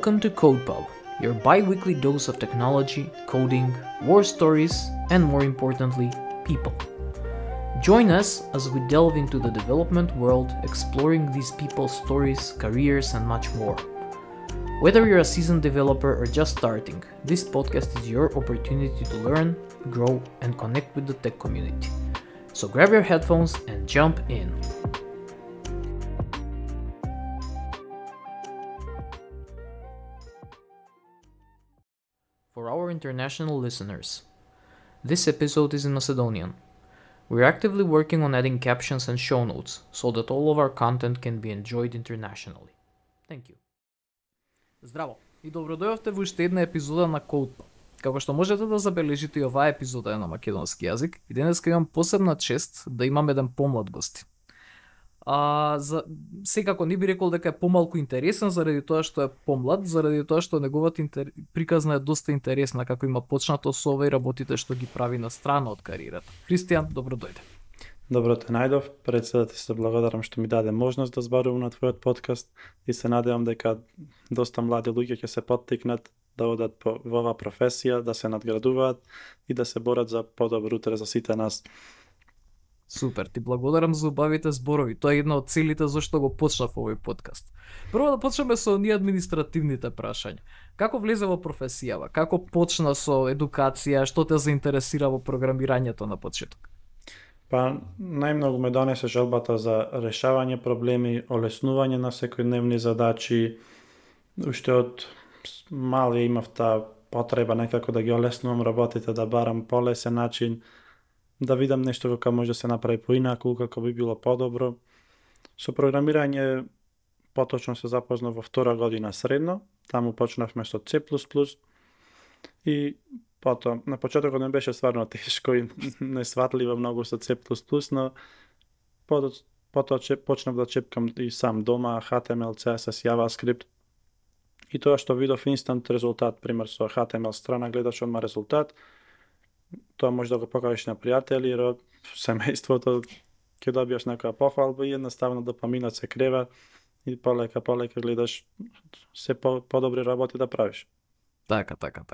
Welcome to CodePub, your bi-weekly dose of technology, coding, war stories, and more importantly, people. Join us as we delve into the development world, exploring these people's stories, careers, and much more. Whether you're a seasoned developer or just starting, this podcast is your opportunity to learn, grow, and connect with the tech community. So grab your headphones and jump in. For our international listeners, this episode is in Macedonian. We're actively working on adding captions and show notes so that all of our content can be enjoyed internationally. Thank you. Здраво и добродојавте во уште една епизода на CodePub. Како што можете да забележите, и оваа епизода е на македонски јазик и денеска имам посебна чест да имам еден помлад гости. Секако не би рекол дека е помалку интересен заради тоа што е помлад, заради тоа што неговата приказна е доста интересна, како има почнато со ова и работите што ги прави на страна од кариерата. Христијан, добро дојде. Добро те најдов, пред се да ти се благодарам што ми даде можност да зборувам на твојот подкаст и се надевам дека доста млади луѓе ќе се поттикнат да одат во оваа професија, да се надградуваат и да се борат за подобро утре за сите нас. Супер, ти благодарам за убавите зборови. Тоа е една од целите зашто го почнав овој подкаст. Прво да почнеме со оние административните прашања. Како влезе во професијава? Како почна со едукација? Што те заинтересира во програмирањето на почеток? Па, најмногу ме донесе желбата за решавање проблеми, олеснување на секојдневни задачи. Уште од мал имав таа потреба некако да ги олеснувам работите, да барам полесен начин, да видам нешто како може да се направи поинаку, како би било подобро. Со програмирање поточно се запознав во втора година средно, таму почнавме со C++ и потоа на почетокот не беше стварно тешко и несватливо многу со C++, но потоа почнав да чепкам и сам дома HTML, CSS, JavaScript. И тоа што видов инстант резултат, пример со HTML страна, гледаш одма резултат, тоа може да го покажеш на пријатели, семејството, ќе добиеш некоја пофалба и едноставно допаминот се крeva и полека гледаш се подобри работи да правиш. Така.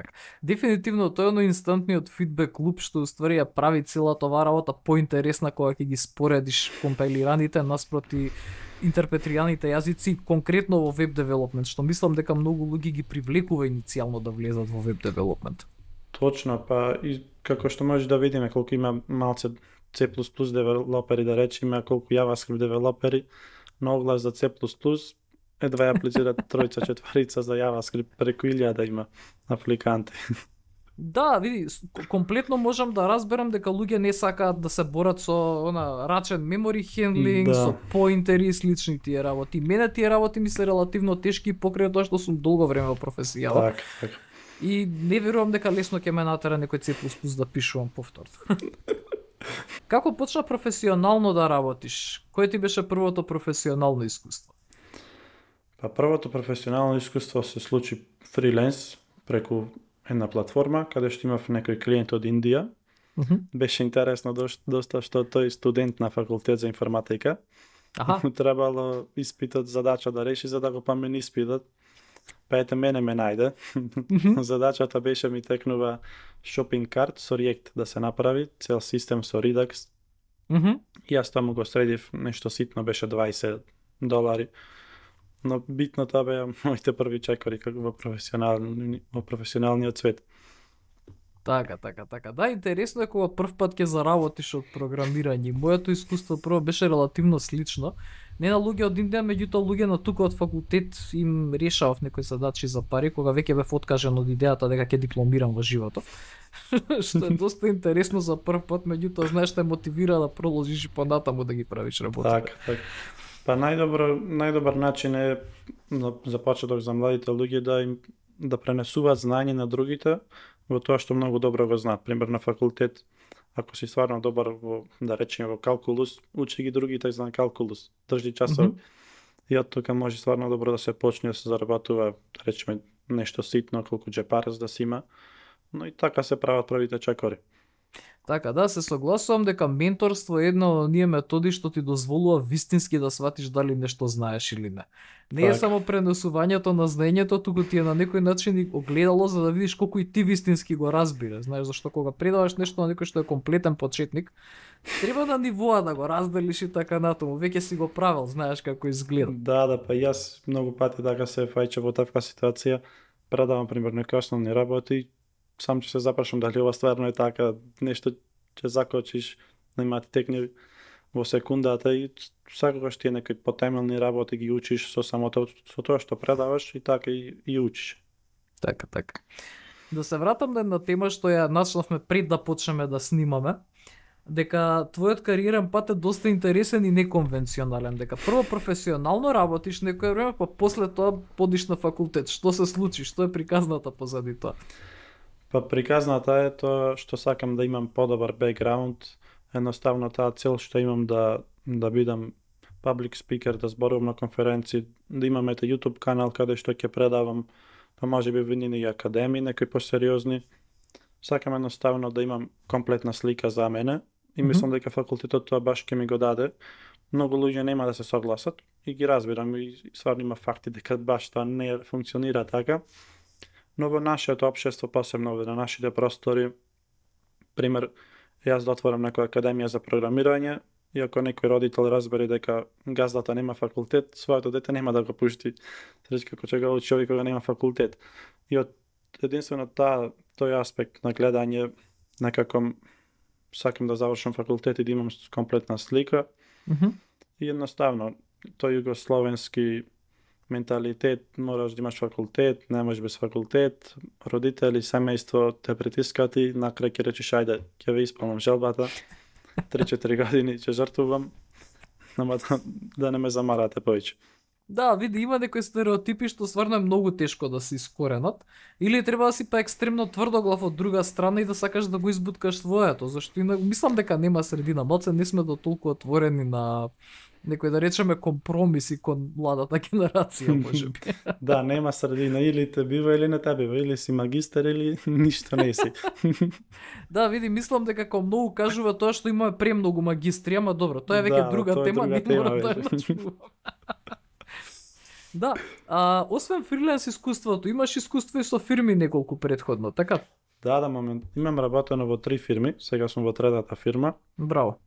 Дефинитивно тоа е инстантниот фидбек луп што уствари ја прави целата оваа работа поинтересна кога ќе ги споредиш компилираните наспроти интерпретираните јазици, конкретно во веб девелопмент, што мислам дека многу луѓе ги привлекува иницијално да влезат во веб девелопмент. Точно, па и како што може да видиме колку има малце C++ девелопери, да речеме, колку JavaScript девелопери, на оглас за C++, едва ја аплицираат тројца, четворица за JavaScript, преку 1000 има апликанти. Да, види, комплетно можам да разберам дека луѓе не сакаат да се борат со рачен memory handling, да, со поинтери и слични тие работи. Мене тие работи ми се релативно тешки покрај тоа што сум долго време во професијава. Така. И не верувам дека лесно ќе ме натера некој C++ да пишувам повторно. Како почна професионално да работиш? Кој ти беше првото професионално искуство? Па првото професионално искуство се случи фриленс преку една платформа каде што имав некој клиент од Индија. Беше интересно доста што тој студент на факултет за информатика. Требало испитот задача да реши за да го помени испитот. Па ете мене ме најде. Задачата беше ми текнува shopping cart со React да се направи, цел систем со Redux. И јас таму го средив, нешто ситно беше $20. Но битно тоа беа моите први чекори како во професионалниот свет. Така. Да, интересно е кога прв пат ќе заработиш од програмирање. Моето искуство прво беше релативно слично. Не на луѓе од Индија, меѓутоа луѓе на тука од факултет им решавав некои задачи за пари, кога веќе бев откажен од идејата дека ќе дипломирам во животот. Што е доста интересно за прв пат, меѓутоа знаеш те мотивира да продолжиш и понатаму да ги правиш работите. Така. Па најдобар начин е за почеток за младите луѓе да пренесуваат знаење на другите во тоа што многу добро го знаат. Пример на факултет, ако си стварно добар во, да речеме, во калкулус, учи ги другите за калкулус, држи часови. И од тука може стварно добро да се почне да се заработува, да речеме, нешто ситно, колку джепарес да си има, но и така се прават првите чекори. Така, да, се согласувам дека менторство е една од оние методи што ти дозволува вистински да сватиш дали нешто знаеш или не. Не е Така. само пренесувањето на знаењето, туку ти е на некој начин и огледало за да видиш колку и ти вистински го разбираш. Знаеш, зашто кога предаваш нешто на некој што е комплетен почетник, треба на нивоа да го разделиш и така натаму. Веќе си го правил, знаеш како изгледа. Да, па јас многу пати така се фаќа во таква ситуација, предавам пример некои основни работи, сам ќе се запрашам дали ова стварно е така, нешто ќе закочиш, нема ти текне во секундата и секогаш тие некои потемелни работи ги учиш со самото со тоа што предаваш и така и учиш. Така, така. Да се вратам на една тема што ја начнавме пред да почнеме да снимаме, дека твојот кариерен пат е доста интересен и неконвенционален, дека прво професионално работиш некое време, па после тоа подиш на факултет. Што се случи? Што е приказната позади тоа? Па приказната е тоа што сакам да имам подобар бекграунд, едноставно таа цел што имам да бидам public speaker, да зборувам на конференции, да имам ете YouTube канал каде што ќе предавам, па можеби во нивни академии, некои посериозни. Сакам едноставно да имам комплетна слика за мене и мислам дека факултетот тоа баш ќе ми го даде. Многу луѓе нема да се согласат и ги разбирам и стварно има факти дека баш тоа не функционира така. Но во нашето општество, посебно на нашите простори, пример, јас да отворам некоја академија за програмирање и ако некој родител разбере дека газдата нема факултет, своето дете нема да го пушти. Рече како ќе го учи овој кога нема факултет. И од единствено тој аспект на гледање, некако сакам да завршам факултет и да имам комплетна слика. И едноставно, тој југословенски менталитет, мораш да имаш факултет, не можеш без факултет, родители, семејство те притискат и накрај ќе речеш ајде, ќе ве исполнам желбата, 3-4 години ќе жртвувам, нема да не ме замарате повеќе. Да, види, има некои стереотипи што стварно е многу тешко да се искоренат, или треба да си па екстремно тврдоглав од друга страна и да сакаш да го избуткаш своето, зашто и мислам дека нема средина, малце не сме до толку отворени на некои да речеме компромиси кон младата генерација, можеби. Да, нема средина, или те бива или не те бива, или си магистер или ништо не си. Да, види, мислам дека како многу кажува тоа што имаме премногу магистри, ама добро, тоа е веќе друга тоа е тема, друга не мора тема да ја начнувам. Да, освен фриленс искуството, имаш искуство и со фирми неколку предходно, така? Да, момент. Имам работено во 3 фирми, сега сум во третата фирма. Браво.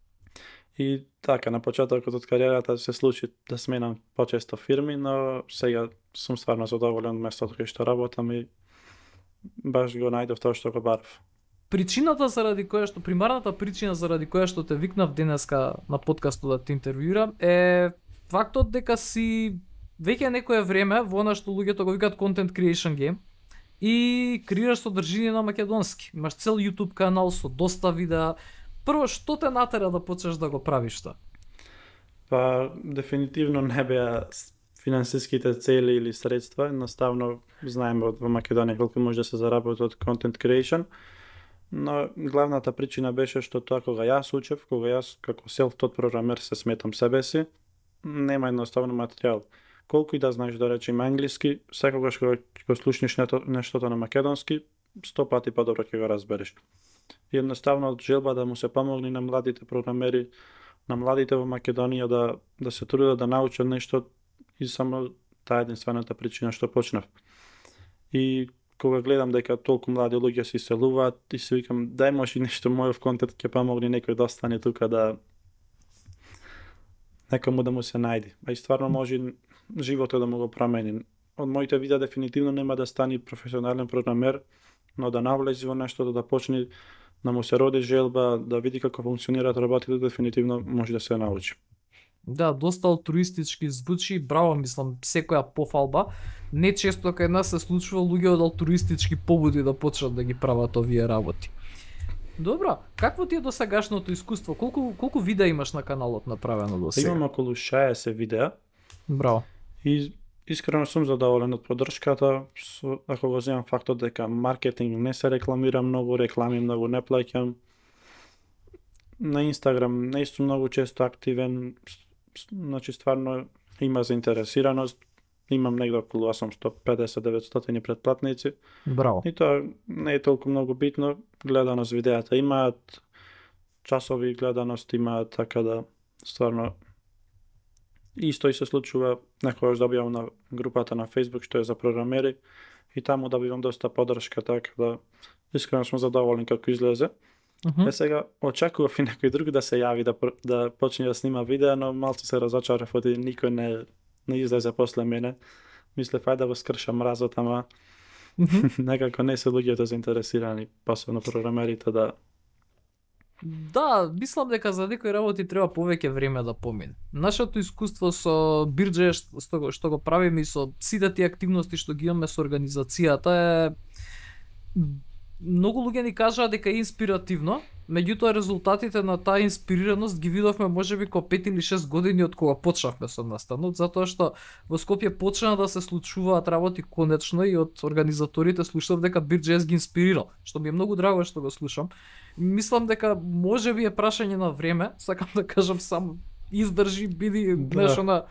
И така, на почетокот од кариерата се случи да сменам почесто фирми, но сега сум стварно задоволен од местото кај што работам и баш го најдов тоа што го барав. Причината заради која што, примарната причина заради која што те викнав денеска на подкастот да те интервјуирам е фактот дека си веќе некое време во она што луѓето го викаат content creation game и креираш содржина на македонски. Имаш цел YouTube канал со доста видеа. Прво, што те натера да почнеш да го правиш тоа? Па, дефинитивно не беа финансиските цели или средства, едноставно знаеме во Македонија колку може да се заработи од content creation, но главната причина беше што тоа кога јас учев, кога јас како self-taught програмер се сметам себе си, нема едноставно материјал. Колку и да знаеш да речем англиски, секогаш кога го слушнеш нештото на македонски, 100 пати подобро ќе го разбереш. И едноставно од желба да му се помогне на младите програмери, на младите во Македонија да се трудат да научат нешто и само таа единствената причина што почнав. И кога гледам дека толку млади луѓе се иселуваат и се викам дај може нешто мојов контент ќе помогне некој да остане тука да некому да му се најде. А и стварно може животот да му го промени. Од моите видеа дефинитивно нема да стане професионален програмер, но да навлези во нешто, да почне да му се роди желба, да види како функционираат работите, дефинитивно може да се научи. Да, доста алтруистички звучи, браво, мислам, секоја пофалба. Не често кај нас се случува луѓе од алтруистички побуди да почнат да ги прават овие работи. Добро, какво ти е досегашното искуство? Колку видеа имаш на каналот направено до сега? Имам околу 60 видеа. Браво. И искрено сум задоволен од поддршката, ако го земам фактот дека маркетинг не се рекламира многу, реклами многу не плаќам. На Инстаграм не сум многу често активен, значи стварно има заинтересираност, имам негде околу 850-900 претплатници. Браво. И тоа не е толку многу битно, гледаност видеата имаат, часови гледаност има, така да стварно исто и се случува некогаш добивам на групата на Facebook што е за програмери и таму добивам доста поддршка, така да искрено сум задоволен како излезе. Сега очекував и некој друг да се јави да почне да снима видео, но малку се разочарав оти никој не излезе после мене. Мислев ајде да го скршам мразот, ама некако не се луѓето заинтересирани, посебно програмерите да. Да, мислам дека за некои работи треба повеќе време да помине. Нашето искуство со Бирџе што го правиме и со сите тие активности што ги имаме со организацијата е многу луѓе ни кажаа дека е инспиративно, меѓутоа резултатите на таа инспирираност ги видовме можеби ко 5 или 6 години од кога почнавме со настанот, затоа што во Скопје почна да се случуваат работи конечно и од организаторите слушав дека Бирџес ги инспирирал, што ми е многу драго што го слушам. Мислам дека можеби е прашање на време, сакам да кажам само издржи, биди нешто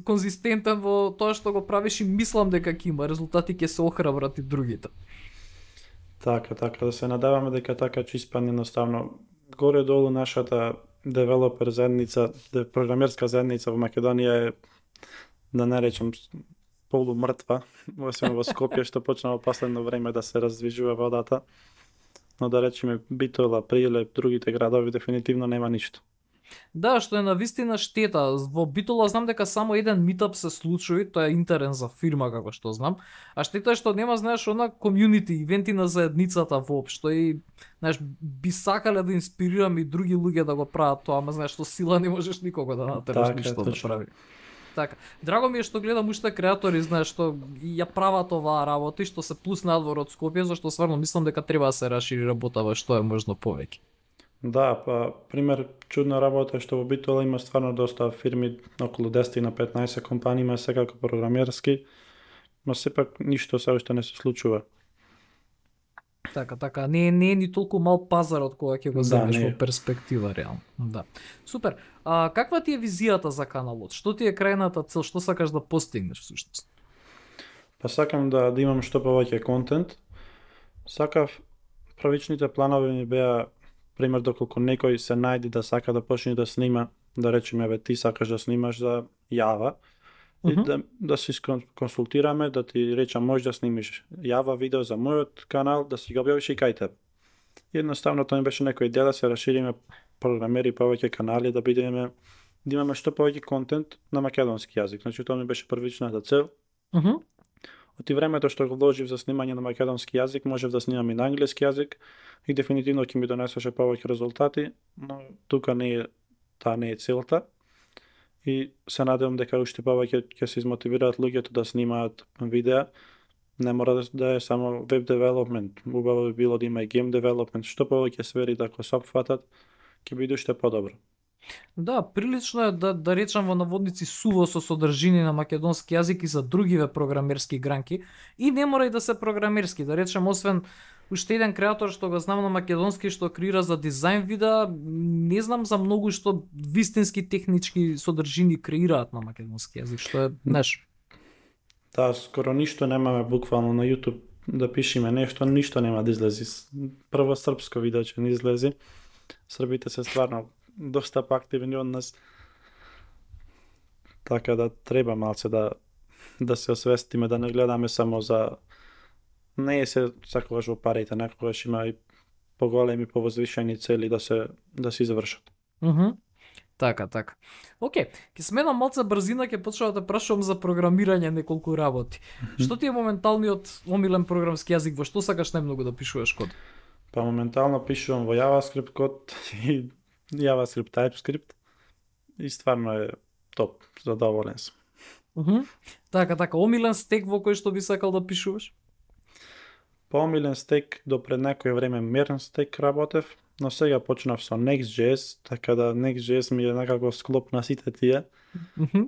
конзистентен во тоа што го правиш и мислам дека ќе има резултати, ќе се охрабрат и другите. Така, да се надаваме дека така ќе испадне едноставно. Горе-долу нашата девелопер заедница, програмерска заедница во Македонија е, да не речем, полумртва, освен во Скопје што почна во последно време да се раздвижува водата. Но да речеме Битола, Прилеп, другите градови дефинитивно нема ништо. Да, што е навистина штета. Во Битола знам дека само еден митап се случи, тоа е интерен за фирма како што знам. А штета е што нема, знаеш, она комјунити, ивенти на заедницата воопшто и знаеш, би сакале да инспирираме и други луѓе да го прават тоа, ама знаеш, што сила не можеш никого да натераш ништо да прави. Така, драго ми е што гледам уште креатори, знаеш, што ја прават оваа работа и што се плус надвор од Скопје, зашто стварно мислам дека треба да се расшири работава што е можно повеќе. Да, па пример чудна работа е што во Битола има стварно доста фирми, околу 10 на 15 компании има секако програмерски, но сепак ништо се уште не се случува. Така, не е ни толку мал пазар од кога ќе го земеш во перспектива реално. Да. Супер. А каква ти е визијата за каналот? Што ти е крајната цел? Што сакаш да постигнеш всушност? Па сакам да имам што повеќе контент. Сакав правичните планови ми беа пример доколку некој се најде да сака да почне да снима, да речеме еве ти сакаш да снимаш за Java и да се консултираме, да ти речам можеш да снимиш Java видео за мојот канал, да си го објавиш и кај теб. Едноставно тоа ми беше некој идеја да се расшириме програмери повеќе канали, да имаме што повеќе контент на македонски јазик. Значи тоа ми беше првичната цел. Од времето што го вложив за снимање на македонски јазик, можев да снимам и на англиски јазик и дефинитивно ќе ми донесеше повеќе резултати, но тука таа не е целта. И се надевам дека уште повеќе ќе се измотивираат луѓето да снимаат видеа. Не мора да е само веб девелопмент, убаво би било да има и гейм девелопмент, што повеќе сфери да го сопфатат, ќе биде уште подобро. Да, прилично е да речам во наводници суво со содржини на македонски јазик и за другиве програмерски гранки и не мора и да се програмерски, да речем освен уште еден креатор што го знам на македонски што креира за дизајн видеа, не знам за многу што вистински технички содржини креираат на македонски јазик, што е нешто. Да, скоро ништо немаме буквално на YouTube да пишеме ништо нема да излези. Прво српско видео ќе не излези. Србите се стварно доста поактивни од нас. Така да треба малце да се освестиме, да не гледаме само за не е се секогаш во парите, некогаш има и поголеми, повозвишени цели да се извршат. Така. Океј, ќе сменам малце брзина, ќе почнам да прашувам за програмирање неколку работи. Што ти е моменталниот омилен програмски јазик, во што сакаш најмногу да пишуваш код? Па моментално пишувам во JavaScript код и JavaScript, TypeScript и стварно е топ, задоволен сум. Така, омилен стек во кој што би сакал да пишуваш? По омилен стек до пред некој време Mern стек работев, но сега почнав со Next.js, така да Next.js ми е некако склоп на сите тие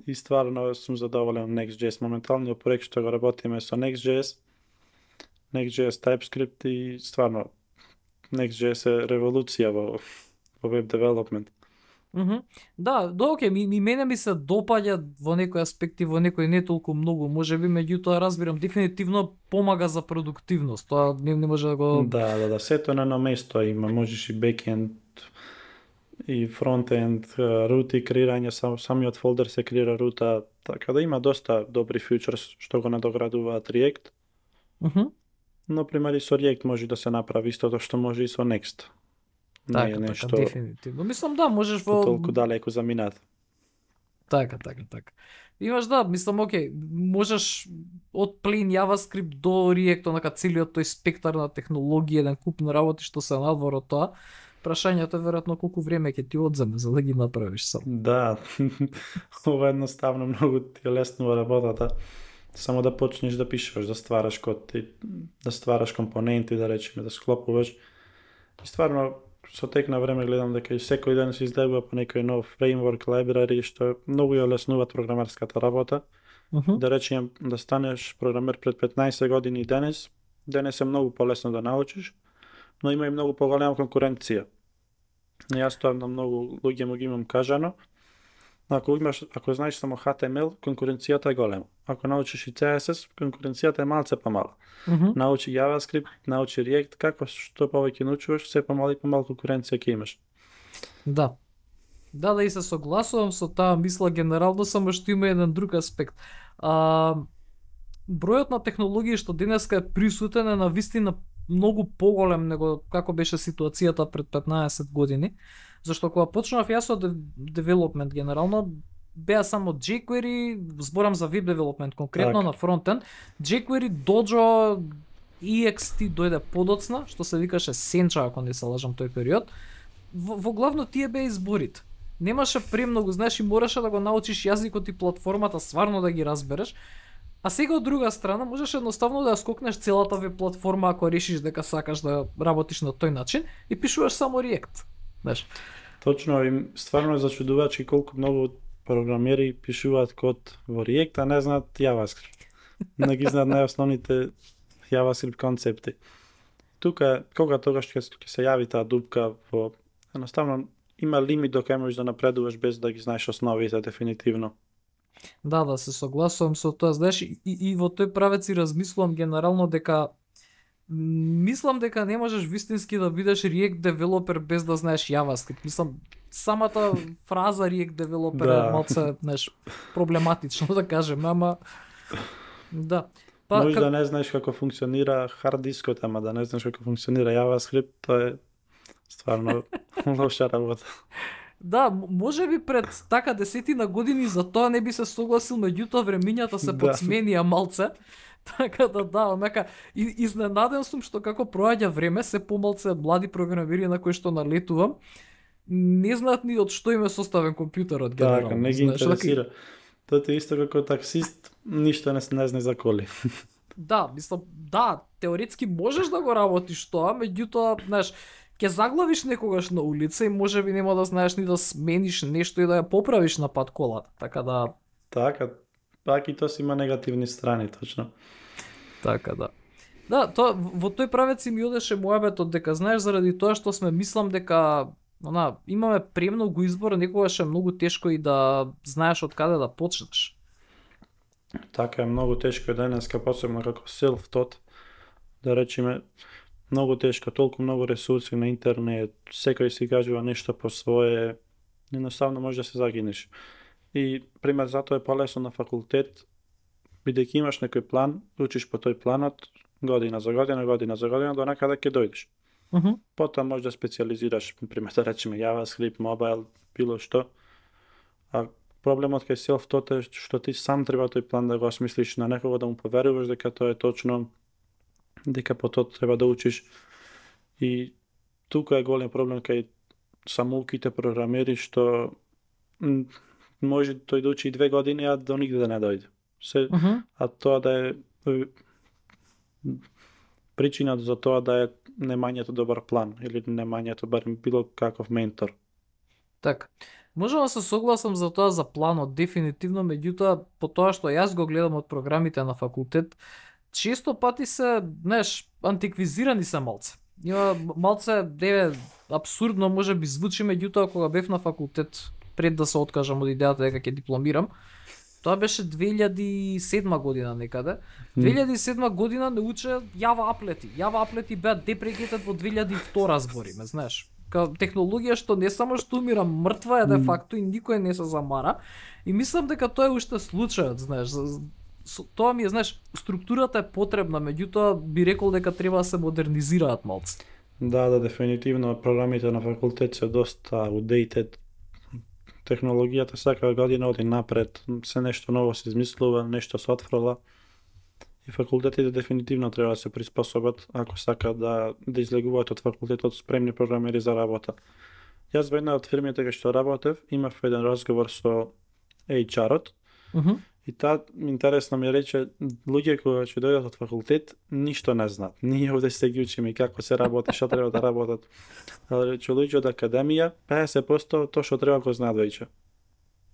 и стварно сум задоволен Next.js. Моменталниот проект што го работиме со Next.js, TypeScript и стварно Next.js е револуција во веб девелопмент. Да, окей, мене ми се допаѓа во некои аспекти, во некои не толку многу, можеби, меѓутоа разбирам, дефинитивно помага за продуктивност, тоа не може да го... Да, сето на едно место има, можеш и бекенд, и фронтенд, рути, креирање, самиот фолдер се креира рута, така да има доста добри фичерс што го надоградуваат React. Но пример и со React може да се направи истото што може и со Next. Така, така, дефинитивно. Мислам да, можеш во толку далеку заминат. Така. Имаш мислам, окей, можеш од plain JavaScript до React, онака целиот тој спектар на технологии, еден куп на работи што се надвор од тоа. Прашањето е веројатно колку време ќе ти одземе за да ги направиш сам. Да, ова едноставно многу ти е леснува работата. Само да почнеш да пишеш, да ствараш код, да ствараш компоненти, да речеме, да склопуваш. И стварно, со тек на време гледам дека и секој ден се излегува по некој нов фреймворк, library, што многу ја леснуваат програмерската работа. Да речем, да станеш програмер пред 15 години денес е многу полесно да научиш, но има и многу поголема конкуренција. Јас тоа на многу луѓе му ги имам кажано. Ако знаеш само HTML, конкуренцијата е голема. Ако научиш и CSS, конкуренцијата е малце помала. Научи JavaScript, научи React, како што повеќе научуваш, се помала и помала конкуренција ќе имаш. Да. Да, и се согласувам со таа мисла генерално, само што има еден друг аспект. Бројот на технологии што денеска е присутен е навистина многу поголем него како беше ситуацијата пред 15 години. Зашто кога почнав јас од development генерално, беа само jQuery, зборам за web development конкретно на фронтенд, jQuery, Dojo, EXT дојде подоцна, што се викаше Sencha, ако не се лажам тој период. Во главно тие беа изборите. Немаше премногу, знаеш, и мораше да го научиш јазикот и платформата стварно да ги разбереш. А сега од друга страна можеш едноставно да ја скокнеш целата веб платформа ако решиш дека сакаш да работиш на тој начин и пишуваш само React. Знаеш. Точно, и стварно е зачудувачки колку многу програмери пишуваат код во React, а не знаат JavaScript. Не ги знаат најосновните JavaScript концепти. Тука, кога тогаш ќе се јави таа дупка во... Едноставно, има лимит до кај можеш да напредуваш без да ги знаеш основите дефинитивно. Да, се согласувам со тоа, знаеш, и во тој правец и размислувам генерално дека мислам дека не можеш вистински да бидеш React девелопер без да знаеш JavaScript. Мислам, самата фраза React девелопер е малце, знаеш, проблематично да кажем, ама да. Може да не знаеш како функционира хард дискот, ама да не знаеш како функционира JavaScript, тоа е стварно лоша работа. Да, може би пред така 10 години за тоа не би се согласил, меѓутоа времињата се подсменија малце. Така да, онака изненаден сум што како проаѓа време се помалце млади програмери на кои што налетувам не знаат ни од што им е составен компјутерот генерално. Така, не ги интересира. Тоа е исто како таксист, ништо не знае за коли. Да, мислам, да, теоретски можеш да го работиш тоа, меѓутоа, знаеш, ќе заглавиш некогаш на улица и можеби нема да знаеш ни да смениш нешто и да ја поправиш на пат колата. Така да. Така, пак и тоа си има негативни страни, точно. Така да. Да, тоа во тој правец ми одеше мојабетот дека знаеш заради тоа што сме мислам дека имаме премногу избор, некогаш е многу тешко и да знаеш од каде да почнеш. Така е, многу тешко е денеска, посебно како self-taught, да речеме, многу тешко, толку многу ресурси на интернет, секој си кажува нешто по свое, едноставно може да се загинеш. И пример затоа е полесно на факултет, бидејќи имаш некој план, учиш по тој планот, година за година, до некаде ќе дојдеш. Потоа може да специализираш, пример да речеме JavaScript, mobile, било што. А проблемот кај self-taught е што ти сам треба тој план да го осмислиш, на некого да му поверуваш дека тоа е точно, дека по тоа треба да учиш. И тука е голем проблем кај самоуките програмери што може тој да учи 2 години, а до нигде да не дојде. А тоа да е причината за тоа да е немањето добар план или немањето барем било каков ментор. Така. Можам да се согласам за тоа за планот, дефинитивно, меѓутоа по тоа што јас го гледам од програмите на факултет, често пати се, знаеш, антиквизирани се малце. Има малце, абсурдно може би звучи, меѓутоа кога бев на факултет, пред да се откажам од идејата дека ќе дипломирам, тоа беше 2007 година некаде. 2007 година не уче Java аплети. Java аплети беа депрегетед во 2002 збориме, знаеш. технологија што не само што умира, мртва е де факто и никој не се замара. И мислам дека тоа е уште случајот, знаеш. Тоа ми е, знаеш, структурата е потребна, меѓутоа би рекол дека треба да се модернизираат малце. Да, дефинитивно програмите на факултет се доста outdated. Технологијата секоја година оди напред, се нешто ново се измислува, нешто се отфрла. И факултетите дефинитивно треба да се приспособат ако сакаат да излегуваат од факултетот спремни програмери за работа. Јас во една од фирмите кај што работев, имав еден разговор со HR-от. И таа интересно ми рече, луѓе кои ќе дојдат од факултет ништо не знаат. Ние овде се ги учиме како се работи, што треба да работат. Але рече луѓе од академија 50% тоа што треба го знаат веќе.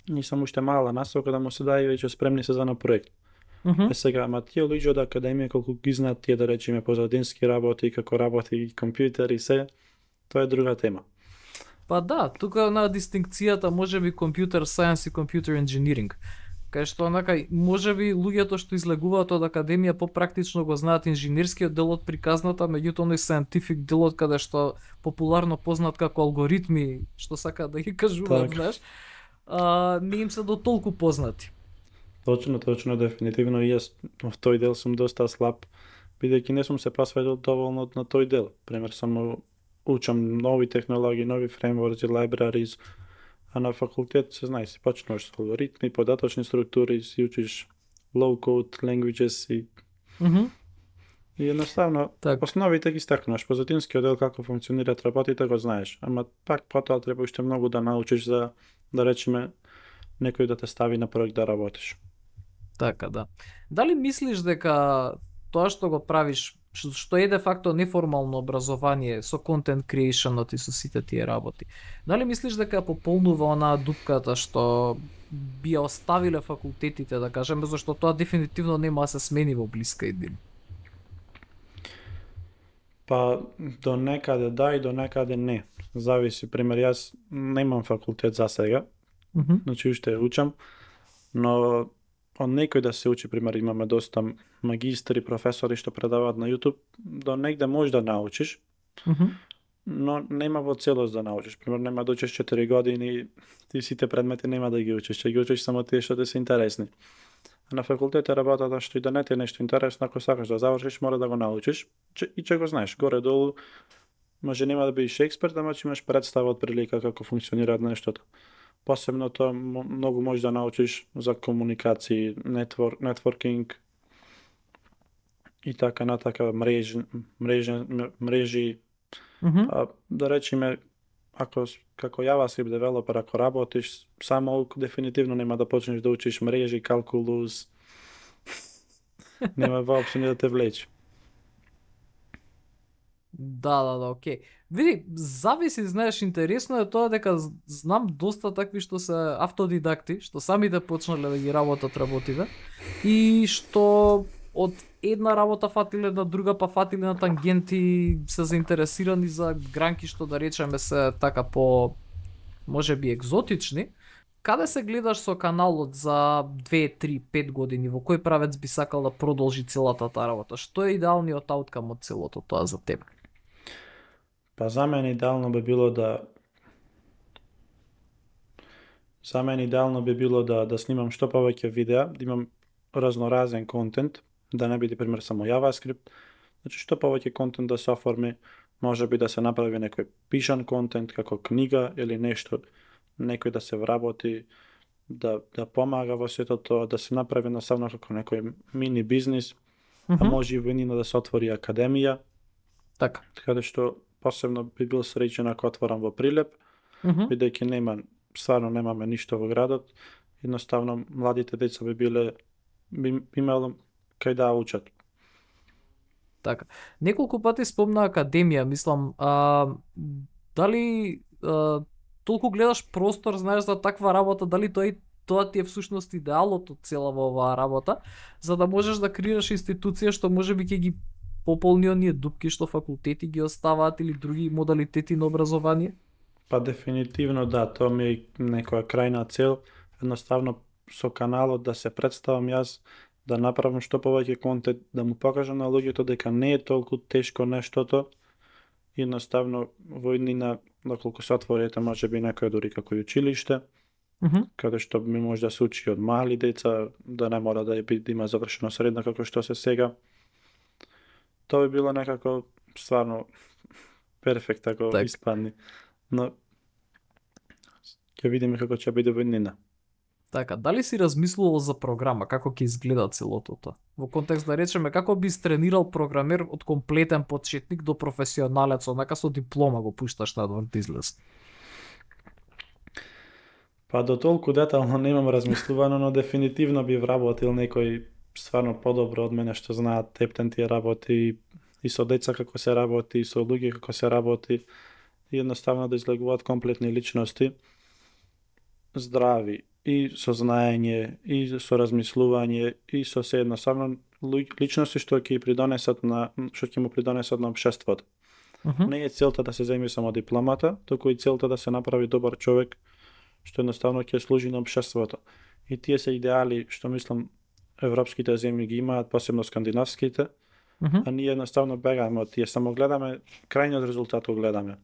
Ние сам уште мала насока да му се даде веќе спремни се за на проект. Сега, ама тие луѓе од академија колку ги знаат тие да речеме позадински работи, како работи компјутер и се, тоа е друга тема. Па да, тука на дистинкцијата можеби computer science и computer engineering. Кај што онака можеби луѓето што излегуваат од академија попрактично го знаат инженерскиот дел од приказната, меѓутоа оној scientific делот каде што популарно познат како алгоритми, што сакаат да ги кажуваат, знаеш, не им се до толку познати. Точно, дефинитивно и јас во тој дел сум доста слаб, бидејќи не сум се посветил доволно на тој дел. Пример, само учам нови технологии, нови фреймворци, libraries, а на факултет се знае, си почнуваш со алгоритми, податочни структури, си учиш low-code languages и и едноставно основите ги стекнуваш, позадинскиот дел како функционираат работите го знаеш, ама пак потоа треба уште многу да научиш за да речеме некој да те стави на проект да работиш. Така, да. Дали мислиш дека тоа што го правиш, што е де факто неформално образование со content creation и со сите тие работи, дали мислиш дека пополнува онаа дупката што би ја оставиле факултетите, да кажеме, зашто тоа дефинитивно нема да се смени во блиска иднина? Па до некаде да и до некаде не. Зависи, пример, јас немам факултет за сега, значи уште учам, но од некој да се учи, пример, имаме доста магистри, професори што предаваат на YouTube, до негде можеш да научиш, но нема во целост да научиш. Пример, нема да учиш 4 години, ти сите предмети нема да ги учиш, ќе ги учиш само тие што ти се интересни. А на факултет е работата што и да не ти е нешто интересно, ако сакаш да завршиш, мора да го научиш и ќе го знаеш. Горе-долу, може нема да бидеш експерт, ама ќе имаш представа од прилика како функционира нештото. Посебно тоа многу можеш да научиш за комуникации, нетворкинг и така натака, мрежи. Да речеме, ако како JavaScript девелопер, ако работиш само дефинитивно нема да почнеш да учиш мрежи, калкулус. Нема воопшто ни да те влече. Да, окей. Види, зависи, знаеш, интересно е тоа дека знам доста такви што се автодидакти, што сами да почнале да ги работат работите и што од една работа фатиле на друга, па фатиле на тангенти, се заинтересирани за гранки што да речеме се така по можеби екзотични. Каде се гледаш со каналот за 2, 3, 5 години, во кој правец би сакал да продолжи целата таа работа? Што е идеалниот ауткам од целото тоа за тебе? Па за мене идеално би било да снимам што повеќе видеа, да имам разноразен контент, да не биде пример само JavaScript. Значи што повеќе контент да се оформи, можеби да се направи некој пишан контент како книга или нешто, некој да се вработи, да помага во сето тоа, да се направи насамно како некој мини бизнис, а може и во да се отвори академија. Така. Така што посебно би бил среќен ако отворам во Прилеп, бидејќи стварно немаме ништо во градот, едноставно младите деца би имало кај да учат. Така. Неколку пати спомна академија, мислам, дали толку гледаш простор, знаеш за таква работа, дали тоа ти е всушност идеалот од целава оваа работа, за да можеш да креираш институција што можеби ќе ги пополни оние дупки што факултети ги оставаат или други модалитети на образование? Па дефинитивно да, тоа ми е некоја крајна цел, едноставно со каналот да се представам јас, да направам што повеќе контент, да му покажам на луѓето дека не е толку тешко нештото И едноставно во иднина, доколку се отворите, може би некој дури како и училиште, каде што ми може да се учи од мали деца, да не мора да има завршено средно како што се сега. Тоа би било некако стварно перфект ако испадни. Но ќе видиме како ќе биде во иднина. Така, дали си размислувал за програма, како ќе изгледа целото тоа? Во контекст да речеме, како би тренирал програмер од комплетен почетник до професионалец, онака со диплома го пушташ надвор да излез? Па до толку детално немам размислувано, но дефинитивно би вработил некој стварно подобро од мене што знаат тептен тие работи и со деца како се работи, и со луѓе како се работи, и едноставно да излегуваат комплетни личности, здрави, и со знаење, и со размислување, и со се едноставно личности што ќе му придонесат на општеството. Не е целта да се земи само дипломата, туку и целта да се направи добар човек што едноставно ќе служи на општеството. И тие се идеали што мислам европските земји ги имаат, посебно скандинавските, а ние едноставно бегаме од тие, само гледаме крајниот резултат го гледаме.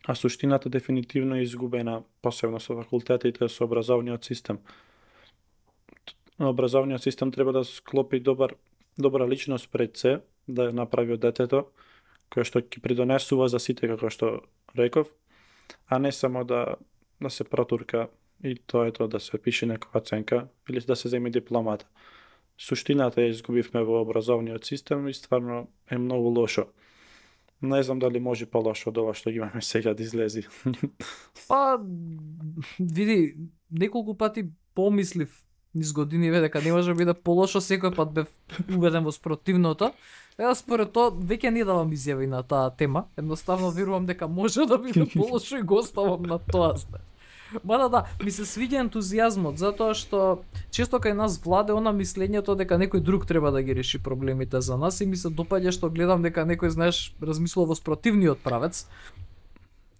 А суштината дефинитивно е изгубена, посебно со факултетите, со образовниот систем. Образовниот систем треба да склопи добра личност пред се, да ја направи од детето, која што ќе придонесува за сите, како што реков, а не само да се протурка и тоа е тоа да се пише некоја оценка или да се земи дипломата. Суштината ја изгубивме во образовниот систем и стварно е многу лошо. Не знам дали може по-лошо од ова што ги имаме сега да излези. Па, види, неколку пати помислив низ годиниве дека не може да биде полошо, секој пат бев убеден во спротивното. Ева според тоа веќе не давам изјави на таа тема. Едноставно верувам дека може да биде полошо и го оставам на тоа. Мада да, ми се свиѓа ентузијазмот, затоа што често кај нас владе она мислењето дека некој друг треба да ги реши проблемите за нас и ми се допаѓа што гледам дека некој, знаеш, размислува во спротивниот правец.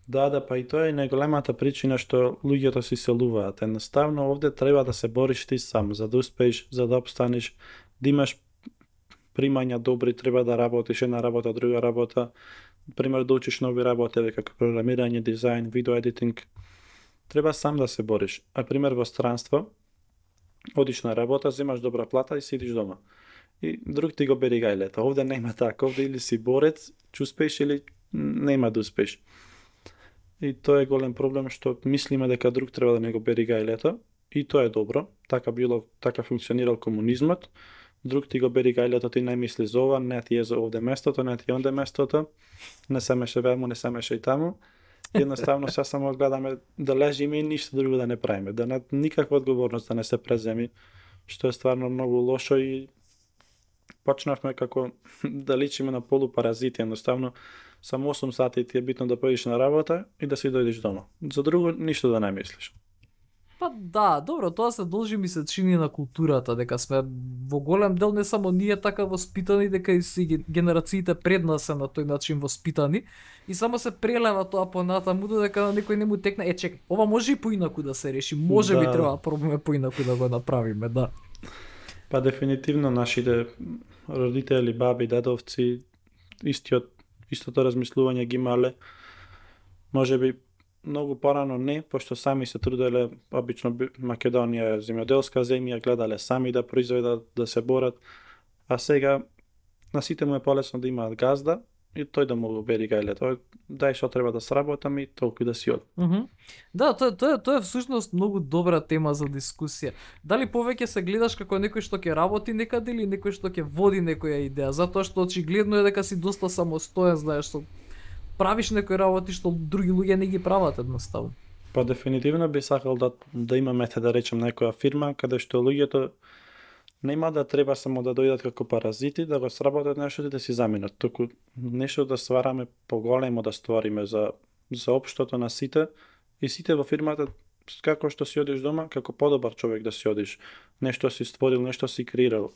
Да, па и тоа е најголемата причина што луѓето се иселуваат. Едноставно овде треба да се бориш ти сам, за да успееш, за да опстанеш, да имаш примања добри, треба да работиш една работа, друга работа, пример да учиш нови работи како програмирање, дизајн, видео едитинг. Треба сам да се бориш. А пример во странство, одиш на работа, земаш добра плата и сидиш дома. И друг ти го бери гајлето. Овде нема така. Овде или си борец, ќе успееш или нема да успееш. И тоа е голем проблем што мислиме дека друг треба да не го бери гајлето. И тоа е добро. Така функционирал комунизмот. Друг ти го бери гајлето, ти не мисли за ова, не ти е за овде местото, не ти е онде местото. Не се меше ваму, не се меше и таму. Едноставно се само гледаме да лежиме и ништо друго да не правиме, да никаква одговорност да не се преземи, што е стварно многу лошо и почнавме како да личиме на полупаразити, едноставно само 8 сати ти е битно да поидеш на работа и да си дојдеш дома. За друго ништо да не мислиш. Па да, добро, тоа се должи ми се чини на културата, дека сме во голем дел не само ние така воспитани, дека и си генерациите пред нас се на тој начин воспитани и само се прелева тоа понатаму додека на некој не му текне, чекај, ова може и поинаку да се реши, може би треба пробаме поинаку да го направиме, да. Па дефинитивно нашите родители, баби, дедовци истото размислување ги имале. Можеби многу порано не, пошто сами се труделе, обично Македонија е земјоделска земја, гледале сами да произведат, да се борат, а сега на сите му е полесно да имаат газда и тој да му го бери гајлето. Дај што треба да сработам и толку да си од. Да, тоа е всушност многу добра тема за дискусија. Дали повеќе се гледаш како некој што ќе работи некаде или некој што ќе води некоја идеја, затоа што очигледно е дека си доста самостоен, знаеш, што правиш некои работи што други луѓе не ги прават едноставно. Па дефинитивно би сакал да имаме, да речем, некоја фирма каде што луѓето нема да треба само да дојдат како паразити, да го сработат нешто и да си заминат, туку нешто да ствараме поголемо, да створиме за општото на сите и сите во фирмата, како што си одиш дома, како подобар човек да си одиш. Нешто си створил, нешто си креирал.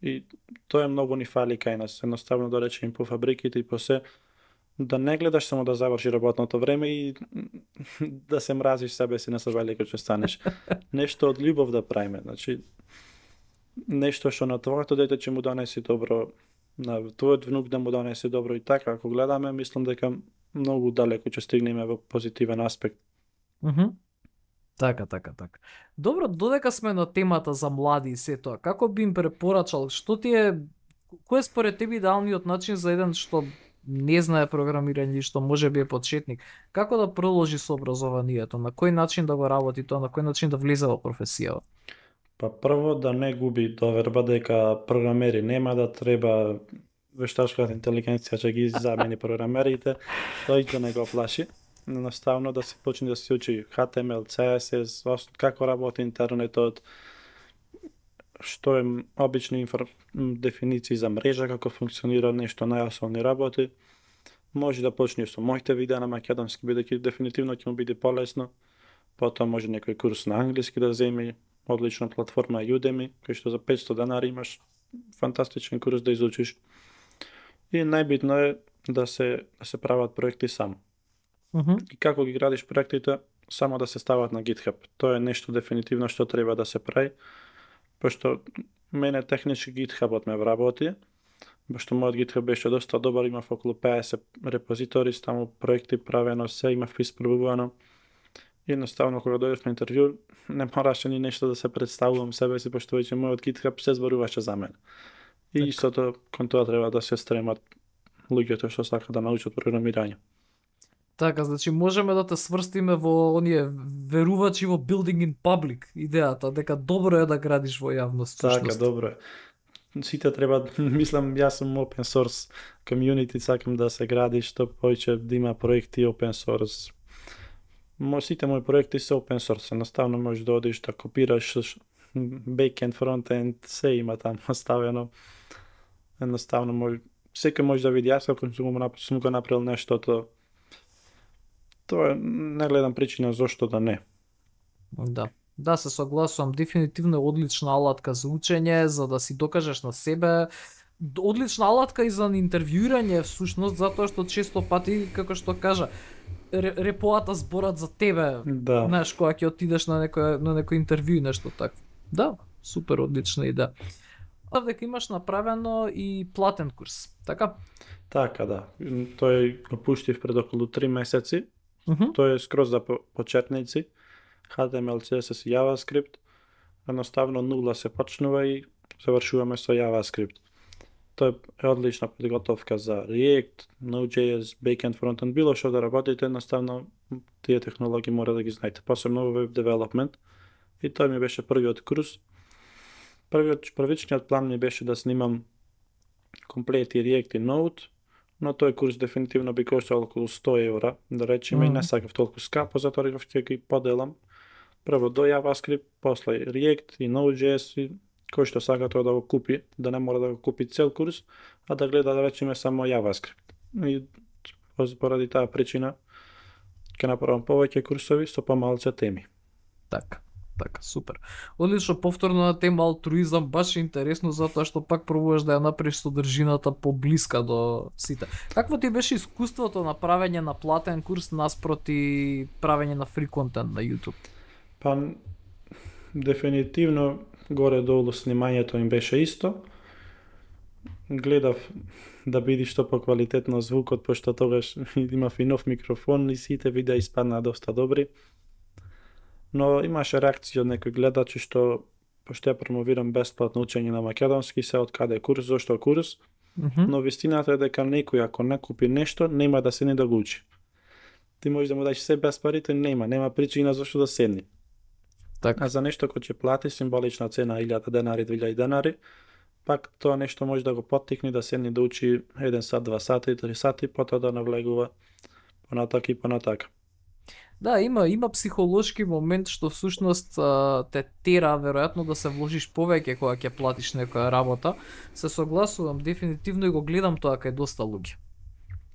И тоа е многу ни фали кај нас. Едноставно да речем по фабриките и по се, да не гледаш само да заврши работното време и да се мразиш себе си на себе кога ќе станеш. Нешто од љубов да правиме, значи нешто што на твоето дете ќе му донеси добро на твојот внук да му донесе добро и така, ако гледаме, мислам дека многу далеко ќе стигнеме во позитивен аспект. Така. Добро, додека сме на темата за млади и се тоа, како би им препорачал, кој е според тебе идеалниот начин за еден што не знае програмирање и што може би е почетник, како да продолжи со образованието, на кој начин да го работи тоа, на кој начин да влезе во професијава? Па прво да не губи доверба дека програмери нема да треба вештачката интелигенција ќе ги замени програмерите, тој да не го плаши. Наставно да се почне да се учи HTML, CSS, како работи интернетот, што е обични дефиниции за мрежа, како функционира нешто најосновни работи. Може да почне со моите видеа на македонски, бидејќи дефинитивно ќе му биде полесно. Потоа може некој курс на англиски да земи, одлична платформа Udemy, кој што за 500 денари имаш фантастичен курс да изучиш. И најбитно е да се прават проекти сам. И како ги градиш проектите, само да се стават на GitHub. Тоа е нешто дефинитивно што треба да се прави, пошто мене технички GitHub-от ме вработи, пошто мојот GitHub беше доста добар, имав околу 50 репозитори, таму проекти правено, се имав испробувано. Едноставно кога дојдев на интервју, не мораше ни нешто да се представувам себе си, пошто веќе мојот GitHub се зборуваше за мене. И истото кон тоа треба да се стремат луѓето што сакаат да научат програмирање. Така, значи можеме да те сврстиме во оние верувачи во building in public идејата, дека добро е да градиш во јавност. Така, добро е. Сите треба, мислам, јас сум open source community, сакам да се гради што повеќе да има проекти open source. Сите мои проекти се open source, едноставно можеш да одиш да копираш backend, frontend, се има таму оставено. Едноставно секој може да види, јас ако сум го направил нештото, тоа не гледам причина зошто да не. Да, се согласувам, дефинитивно е одлична алатка за учење, за да си докажеш на себе, одлична алатка и за интервјуирање всушност, затоа што често пати, како што кажа, репоата зборат за тебе, знаеш, кога ќе отидеш на некој интервју и нешто така. Да, супер одлична идеја. Дека имаш направено и платен курс, така? Така, да. Тој го пуштив пред околу 3 месеци. Тој е скроз за почетници. HTML, CSS и JavaScript. Едноставно нула се почнува и завршуваме со JavaScript. Тоа е одлична подготовка за React, Node.js, Backend, Frontend, било што да работите, едноставно тие технологии мора да ги знаете, посебно во Web Development. И тој ми беше првиот курс. Првичниот план ми беше да снимам комплети React и Node, но тој курс дефинитивно би коштал околу 100 евра, да речеме, и не сакав толку скапо, затоа реков ќе ги поделам. Прво до JavaScript, после React и Node.js, и кој што сака тоа да го купи, да не мора да го купи цел курс, а да гледа, да речеме, само JavaScript. И поради таа причина ќе направам повеќе курсови со помалце теми. Така, супер. Одлично, повторно на тема алтруизам, баш е интересно затоа што пак пробуваш да ја направиш содржината поблиска до сите. Какво ти беше искуството на правење на платен курс наспроти правење на фри контент на YouTube? Па, дефинитивно, горе-долу снимањето им беше исто. Гледав да биде што поквалитетно звукот, пошто тогаш имав и нов микрофон и сите видеа испаднаа доста добри. Но имаше реакција од некои гледачи што, пошто ја промовирам бесплатно учење на македонски, се од каде курс, зошто курс, но вистината е дека некој ако не купи нешто, нема да седне да го учи. Ти можеш да му дадеш се без парите, нема причина зашто да седне. А за нешто кој ќе плати символична цена 1000 денари, 2000 денари, пак тоа нешто може да го поттикне да седне да учи 1 сат, 2 сати, 3 сати, потоа да навлегува понатака и понатака. Да, има психолошки момент што всушност те тера веројатно да се вложиш повеќе кога ќе платиш некоја работа. Се согласувам, дефинитивно и го гледам тоа кај доста луѓе.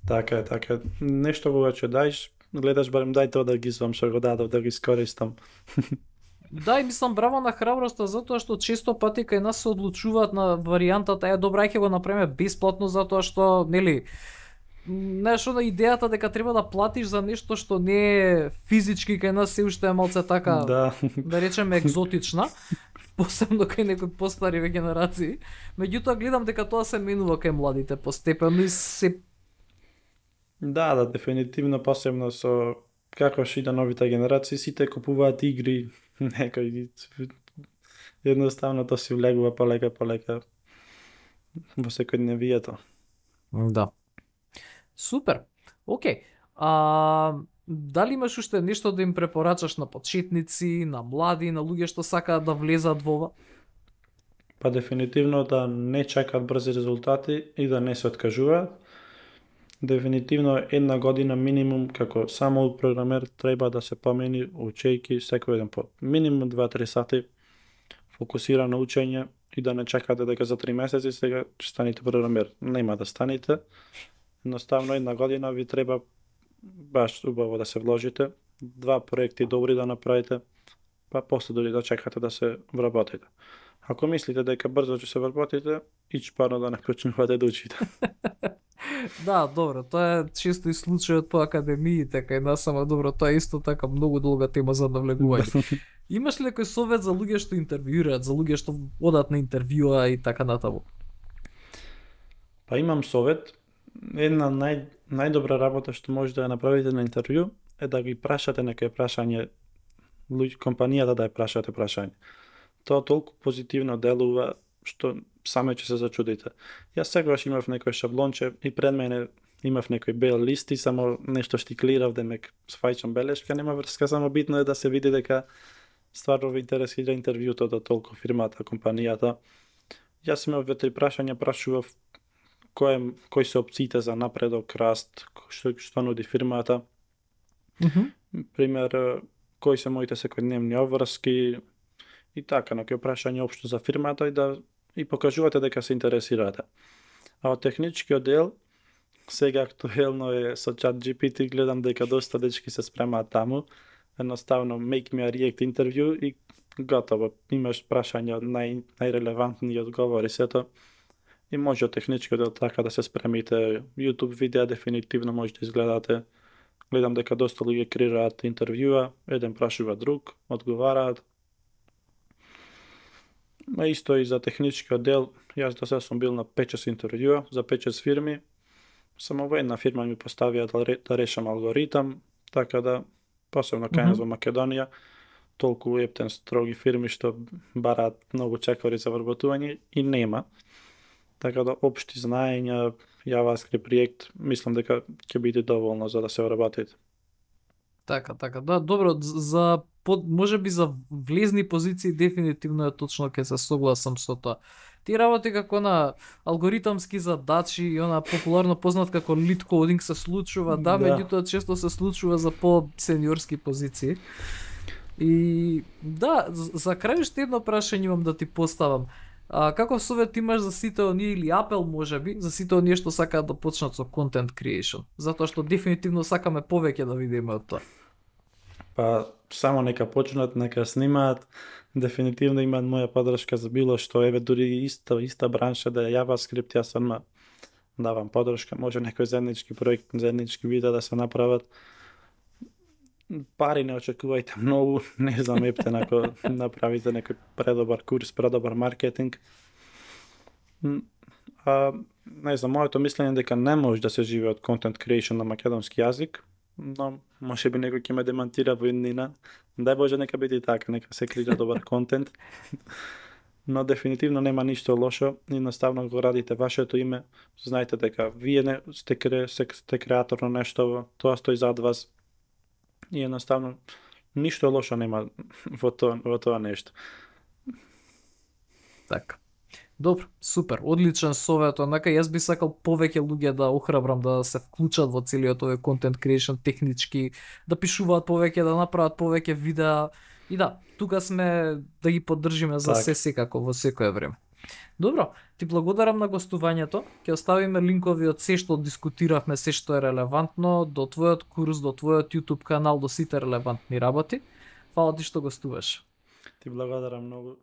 Така е. Нешто кога ќе даеш, гледаш барем дај тоа да ги извам што го дадов, да ги искористам. Да, и мислам браво на храброста, затоа што често пати кај нас се одлучуваат на варијантата добра, ќе го направиме бесплатно затоа што, нели, знаеш, она идејата дека треба да платиш за нешто што не е физички кај нас се уште е малце така, да речеме екзотична, посебно кај некои постари генерации. Меѓутоа гледам дека тоа се менува кај младите постепено и се... Да, дефинитивно, посебно со како што и новите генерации, сите купуваат игри, некои едноставно тоа се влегува полека во секојдневието. Да. Супер. Океј. Дали имаш уште нешто да им препорачаш на почетници, на млади, на луѓе што сакаат да влезат во ова? Па дефинитивно да не чекаат брзи резултати и да не се откажуваат. Дефинитивно 1 година минимум како само програмер треба да се помени учејки секој ден по минимум 2-3 сати фокусирано учење и да не чекате дека за 3 месеци сега ќе станете програмер. Нема да станете. Едноставно 1 година ви треба баш убаво да се вложите, 2 проекти добри да направите, па после дори да чекате да се вработите. Ако мислите дека брзо ќе се вработите, парно да не почнувате да учите. Да, добро, тоа е често и случајот по академиите кај нас, ама добро, тоа е исто така многу долга тема за навлегување. Имаш ли некој совет за луѓе што интервјуираат, за луѓе што одат на интервјуа и така натаму? Па имам совет. Една најдобра работа што може да ја направите на интервју е да ги прашате некој прашање, компанијата да ја прашате прашање. Тоа толку позитивно делува што саме ќе се зачудите. Јас сегаш имав некој шаблонче и пред мене имав некој бел лист и само нешто штиклирав да ме свајчам белешка, нема врска, само битно е да се види дека стварно ви интересира интервјуто, да толку фирмата, компанијата. Јас имав 2-3 прашања, прашував кои се опциите за напредок, раст, што нуди фирмата. Пример, кои се моите секојдневни обврски и така, некои прашања општо за фирмата и покажувате дека се интересирате. А од техничкиот дел, сега актуелно е со ChatGPT, гледам дека доста дечки се спремаат таму. Едноставно make me a react interview и готово. Имаш прашања од најрелевантни одговори сето. И може од техничкиот дел така да се спремите. YouTube видеа дефинитивно може да изгледате. Гледам дека доста луѓе креираат интервјуа, еден прашува друг, одговараат. А исто и за техничкиот дел, јас до сега сум бил на 5-6 интервјуа за 5-6 фирми. Само во една фирма ми поставија да решам алгоритам, така да, посебно кај нас во Македонија, толку ептен строги фирми што бараат многу чекори за вработување и нема. Така да општи знаења, JavaScript, React, мислам дека ќе биде доволно за да се вработите. Така, да, добро, за можеби за влезни позиции дефинитивно е точно ќе се согласам со тоа. Ти работи како на алгоритамски задачи и она популарно познат како lead coding се случува, да, меѓутоа често се случува за по-сениорски позиции. И да, за крај уште едно прашање имам да ти поставам. Каков совет имаш за сите оние или апел можеби, за сите оние што сакаат да почнат со content creation? Затоа што дефинитивно сакаме повеќе да видиме од тоа. Па само нека почнат, нека снимаат. Дефинитивно имаат моја подршка за било што, еве дури иста бранша да е JavaScript, јас одма давам подршка, може некој заеднички проект, заеднички видеа да се направат. Пари не очекувајте многу, не знам, ептен ако направите некој предобар курс, предобар маркетинг. Не знам, моето мислење е дека не може да се живее од content creation на македонски јазик, но може би некој ќе ме демантира во еднина. Дај Боже нека биде така, нека се креира добар контент. Но дефинитивно нема ништо лошо, едноставно го радите вашето име, знаете дека вие не сте креатор на нешто, тоа стои зад вас. И едноставно ништо лошо нема во тоа нешто. Така. Добро, супер, одличен совет, онака јас би сакал повеќе луѓе да охрабрам да се вклучат во целиот овој content creation технички, да пишуваат повеќе, да направат повеќе видеа и да, тука сме да ги поддржиме за се секако во секое време. Добро, ти благодарам на гостувањето, ќе оставиме линкови од се што дискутиравме, се што е релевантно, до твојот курс, до твојот YouTube канал, до сите релевантни работи. Фала ти што гостуваш. Ти благодарам многу.